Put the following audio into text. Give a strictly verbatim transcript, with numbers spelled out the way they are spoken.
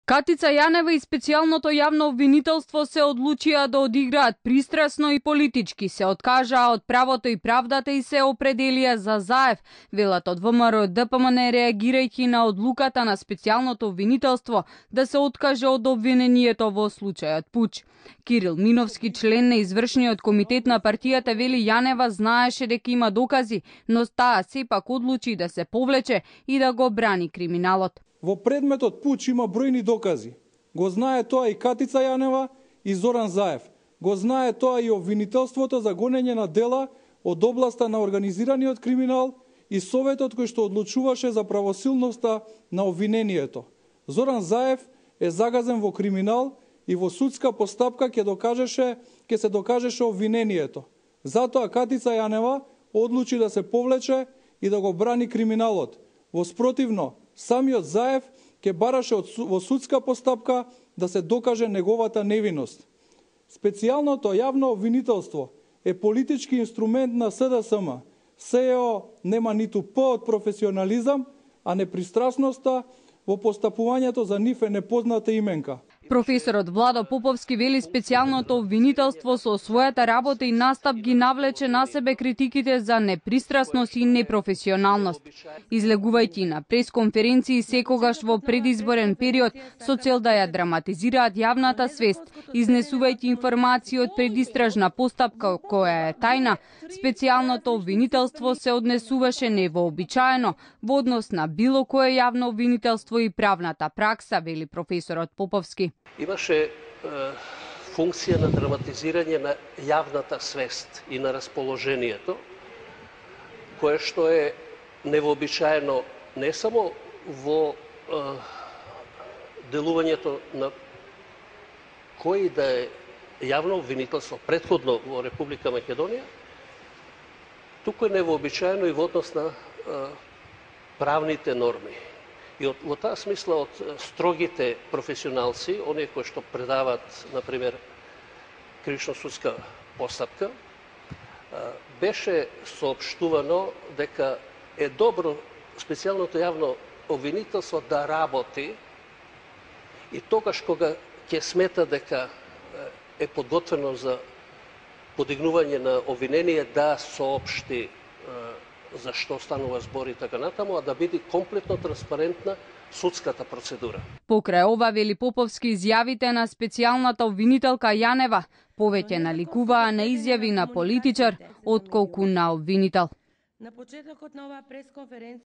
Катица Јанева и специјалното јавно обвинителство се одлучија да одиграат пристрасно и политички, се откажаа од правото и правдата и се определија за Заев, велат од ВМРО Д П М Н реагирајќи на одлуката на специјалното обвинителство да се откаже од обвинението во случајот Пуч. Кирил Миновски, член на извршниот комитет на партијата, вели Јанева знаеше дека има докази, но таа сепак одлучи да се повлече и да го брани криминалот. Во предметот Пуч има бројни докази. Го знае тоа и Катица Јанева и Зоран Заев. Го знае тоа и обвинителството за гонење на дела од областа на организираниот криминал и советот кој што одлучуваше за правосилноста на обвинението. Зоран Заев е загазен во криминал и во судска постапка ќе докажеше, ќе се докажеше обвинението. Затоа Катица Јанева одлучи да се повлече и да го брани криминалот. Во спротивно, самиот Заев ќе бараше во судска постапка да се докаже неговата невиност. Специјалното јавно обвинителство е политички инструмент на С Д С М. С Е О нема ниту П од професионализам, а непристрасноста во постапувањето за нив е непозната именка. Професорот Владо Поповски вели специјалното обвинителство со својата работа и настап ги навлече на себе критиките за непристрасност и непрофесионалност. Излегувајќи на пресконференции секогаш во предизборен период со цел да ја драматизираат јавната свест, изнесувајќи информации од предистражна постапка која е тајна, специјалното обвинителство се однесуваше невообичаено во однос на било кое јавно обвинителство и правната пракса, вели професорот Поповски. Имаше е, функција на драматизирање на јавната свест и на расположението, кое што е невообичаено не само во е, делувањето на кој да е јавно обвинителство претходно во Република Македонија, туку е невообичаено и во однос на е, правните норми. И од, во таа смисла од строгите професионалци, оние кои што предават, например, кривично-судска постапка, беше соопштувано дека е добро специјалното јавно обвинителство да работи и тогаш кога ќе смета дека е подготвено за подигнување на обвинение да соопшти за што станува збор и така натаму, а да биде комплетно транспарентна судската процедура. Покрај ова, вели Поповски, изјавите на специјалната обвинителка Јанева повеќе наликуваа на изјави на политичар отколку на обвинител. На почетокот на оваа пресконференција